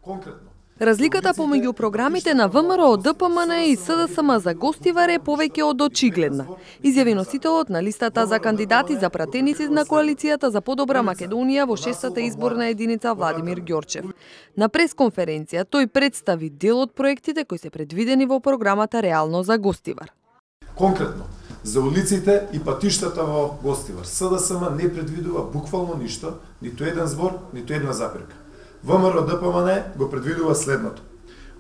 Конкретно, разликата помеѓу програмите на ВМРО, ДПМН и СДСМ за гостивар е повеќе од очигледна, изјави носителот на листата за кандидати за пратеници на коалицијата за подобра Македонија во 6-та изборна единица Владимир Ѓорчев. На пресконференција тој представи дел од проектите кои се предвидени во програмата Реално за гостивар. Конкретно, за улиците и патиштата во Гостивар, СДСМ не предвидува буквално ништо, ниту еден збор, ниту една запирка. ВМРО ДПМН го предвидува следното.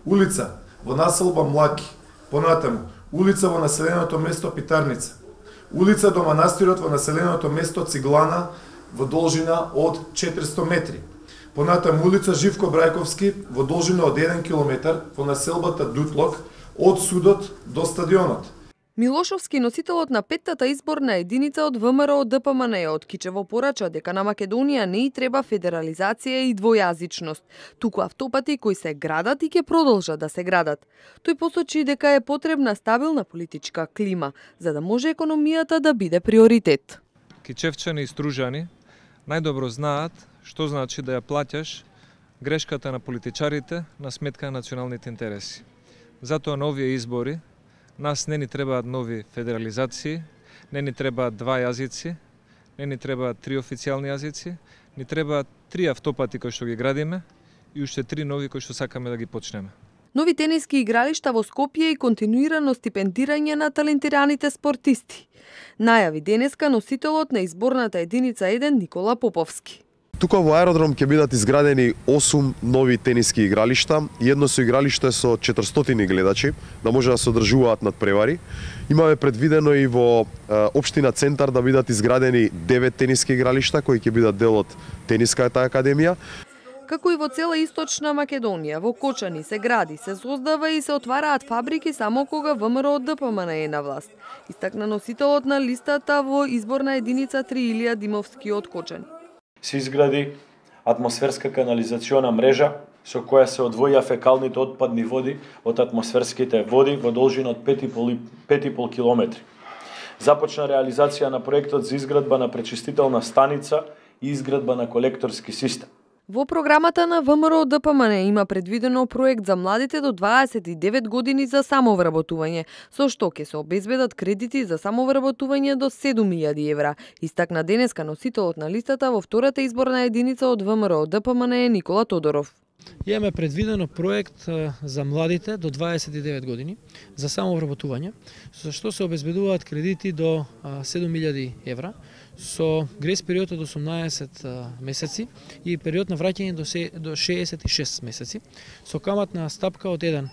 Улица во населба Млаки, понатаму, улица во населеното место Питарница, улица до манастирот во населеното место Циглана во должина од 400 метри, понатаму улица Живко Брајковски во должина од 1 километар во населбата Дутлок од судот до стадионот. Милошовски, носителот на 5-та изборна единица од ВМРО ДПМН од Кичево порача дека на Македонија не и треба федерализација и двојазичност, туку автопати кои се градат и ќе продолжат да се градат. Тој посочи дека е потребна стабилна политичка клима за да може економијата да биде приоритет. Кичевчани и стружани најдобро знаат што значи да ја плаќаш грешката на политичарите на сметка на националните интереси. Затоа на овие избори нас не ни требаат нови федерализации, не ни требаат два јазици, не ни требаат три официјални јазици, ни требаат три автопати кои што ги градиме и уште три нови кои што сакаме да ги почнеме. Нови тениски игралишта во Скопје и континуирано стипендирање на талентираните спортисти. Најави денеска носителот на изборната единица 1 Никола Поповски. Тука во аеродром ќе бидат изградени 8 нови тениски игралишта и едно со игралиште со 400 гледачи, да може да се одржуваат надпревари. Имаме предвидено и во општина Центар да бидат изградени 9 тениски игралишта кои ќе бидат дел од Тениската академија. Како и во цела Источна Македонија, во Кочани се гради, се создава и се отвараат фабрики само кога ВМРО ДПМН е на власт. Истакна носителот на листата во изборна единица 3 Илија Димовски од Кочани. Се изгради атмосферска канализациона мрежа со која се одвоја фекалните отпадни води од атмосферските води во должина од 5,5 километри. Започна реализација на проектот за изградба на пречистителна станица и изградба на колекторски систем. Во програмата на ВМРО ДПМН има предвидено проект за младите до 29 години за самовработување, со што ќе се обезбедат кредити за самовработување до 7.000 евра. Истакна денеска носителот на листата во втората изборна единица од ВМРО ДПМН е Никола Тодоров. Имаме предвидено проект за младите до 29 години за самовработување, со што се обезбедуваат кредити до 7.000 евра, со грес период од 18 месеци и период на враќање до 66 месеци, со каматна стапка од 1%,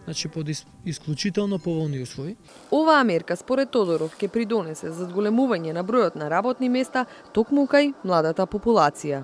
значи под исклучително поволни услови. Оваа мерка, според Тодоров, ќе придонесе за зголемување на бројот на работни места токму кај младата популација.